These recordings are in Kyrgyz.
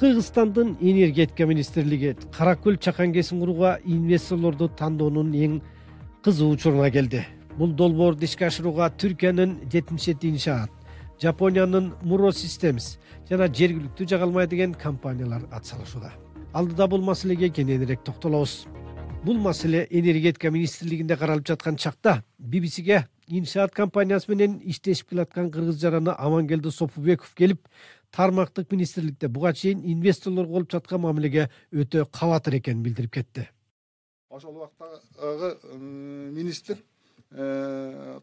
Кыргызстандын энергетика министрлиги Кара Көл чакан кесин курууга инвесторлорду тандоонун эң кызуу учуруна келди. Бул долбоорду ишке ашырууга Түркиянын 77 иншаат, Жапониянын Muro Systems жана жергиликтүү жагалмай деген компаниялар атсалышууда. Алдыда бул маселеге кененирээк токтолобуз. Бул маселе энергетика министрлигинде каралып жаткан чакта BBC'ге иншаат компаниясы менен иштешип келаткан кыргыз жараны Амангелди Сопубеков келип, тармактык министрликте буга чейин инвесторлорго болуп жаткан мамилеге өтө кабатыр экенин билдирип кетти. Ошол убактагы министр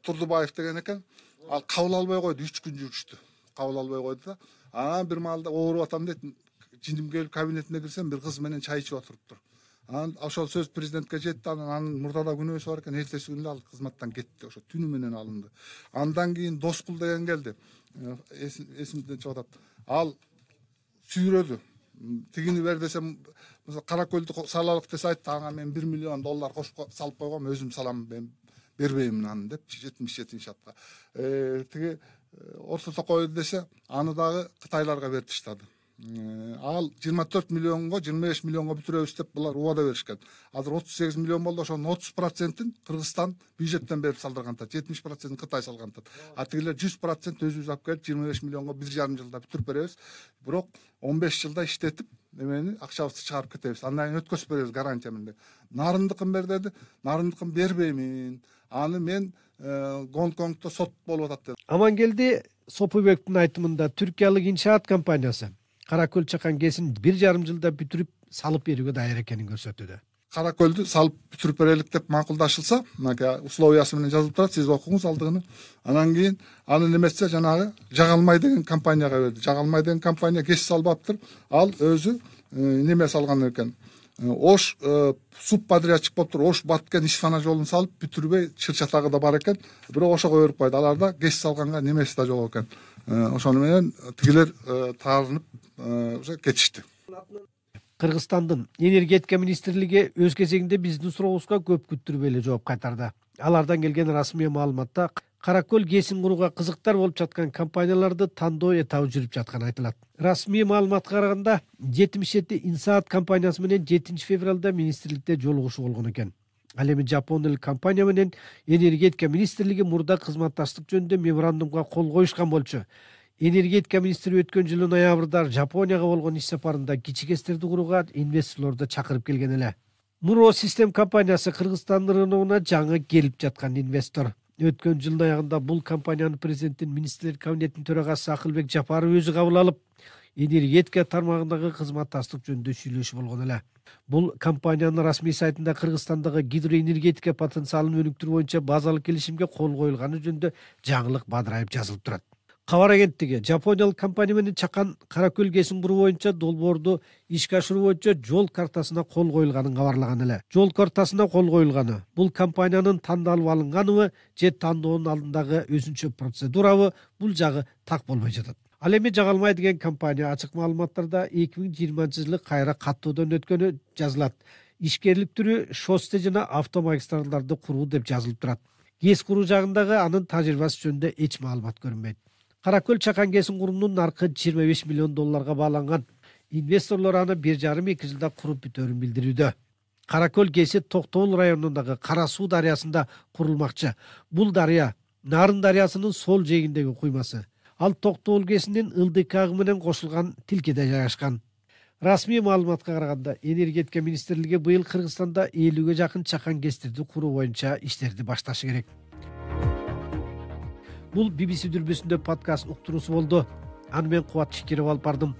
Турдубаев деген экен. Ал кабыл албай койду, 3 күн жүрүштү. Кабыл албай койду да. Анан бир маалда ооруп атам дейт. Жиндим келип кабинетине кирсем, бир кыз менен чай ичип отуруптур. Анан ошол сөз президентке жетти. Анын мурдада күнөөсү бар экен. Эртеси күнү ал кызматтан кетти. Ошо түнү менен алынды. Андан кийин Доскул деген келди. Эсимден чыгып атат. Ал сүйрөдү. Тигини бер десем, мисалы Кара Көлдү салалык десе айтты, ага мен $1 миллион кошуп салып койгом, өзүм салам, мен бербейм аны деп 77 иншаатка. Тиги ортото койду десе, аны дагы кытайларга берип таштады. Ал 24 миллионго, 25 миллионго бүтүрөбүз деп булар убада беришкен. Азыр 38 миллион болду, ошонун 30%-ин Кыргызстан бюджеттен берип салдыргантат, 70%-ин Кытай салгантат. А тигилер 100% өзүбүз алып келип 25 миллионго 1,5 жылда бүтүрүп беребиз. Бирок 15 жылда иштетип, эмени акчабызды чыгарып кетебиз. Андан кийин өткөзүп беребиз гарантия менен. Нарындыкын бер деди. Нарындыкын бербеймин. Аны мен Гонконгдо сот болуп атат деди. Амангелди Сопубековдун айтымында түркиялык иншаат компаниясы Кара Көл чакан кесин 1,5 жылда бүтүрүп салып берүүгө даяр экенин көрсөтүүдө. Кара Көлдү салып бүтүрүп берелик деп макулдашылса, мынакей условиясы менен жазылып турат, сиз окуңуз алдыгыны. Анан кийин аны немесе жанагы Жагалмай деген компанияга берди. Жагалмай деген компания кес салбаптыр. Ал өзү неме салган экен. Ош субподрядчик болуп туруп, Ош Баткен Ишфана жолун салып бүтүрбөй чыр-чатагы да бар экен. Бирок ошого берип койду. Аларда кес салганга немеси да жок экен. Ошону менен тигилер таарынып кетишти. Кыргызстандын энергетика министрлиги өз кезегинде биздин сурообузга көп күттүрбөй эле жооп кайтарды. Алардан келген расмий маалыматта Кара Көл кесин курууга кызыктар болуп жаткан компанияларды тандоо этабы жүрүп жатканы айтылат. Расмий маалыматка караганда 77 иншаат компаниясы менен 7 февралда министрликте жолугушуу болгон экен. Ал эми Жапон эл компания менен энергетика министрлиги мурда кызматташтык жөнүндө меморандумга кол коюшкан болчу. Энергетика министри өткөн жылдын ноябрда Жапонияга болгон иш сапарында кичикестерди курууга инвесторлорду чакырып келген эле. Muro Systems компаниясы Кыргызстан рыногуна жаңы келип жаткан инвестор. Өткөн жылдын аягында бул компаниянын президенттин министрлер кабинетинин төрагасы Акылбек Жапаров өзү кабыл алып, энергетика тармагындагы кызматташтык жөнүндө сүйлөшүү болгон эле. Бул компаниянын расмий сайтында Кыргызстандагы гидроэнергетика потенциалын өнүктүрүү боюнча базалык келишимге кол коюлганы жөнүндө жаңылык бадырайып жазылып турат. Кабар агенттиги Жапониялык компания менен чакан Кара Көл кесин куруу боюнча долбоорду ишке ашыруу боюнча жол картасына кол коюлганын кабарлаган эле. Жол картасына кол коюлганы бул компаниянын тандалып алынганыбы же тандоонун алдындагы өзүнчө процедурабы, бул жагы так болбой жатат. Ал эми Жагалмай деген компания ачык маалыматтарда 2020-жылы кайра каттоодон өткөнү жазылат. Ишкерлик түрү шоссе жана автомагистралдарды куруу деп жазылып турат. КЕС куруу жагындагы анын тажрыйбасы жөнүндө эч маалымат көрүнбөйт. Кара Көл чакан кесин куруунун наркы $25 миллион бааланган. Инвесторлор аны 1,5-2 жылда куруп бүтөөрүн билдирүүдө. Кара Көл кеси Токтогул районундагы Кара Суу дарыясында курулмакчы. Бул дарыя Нарын дарыясынын сол жээгиндеги куймасы. Ал Токтогул кесинин ылдык агы менен кошулган тилкеде жайгашкан. Расмий маалыматка караганда, энергетика министрлиги быйыл Кыргызстанда 50ге жакын чакан кестерди куруу боюнча иштерди башташы керек. Бул BBC дүрбүсүндө подкаст уктуруусу болду. Аны мен Кубат Шекиров алып бардым.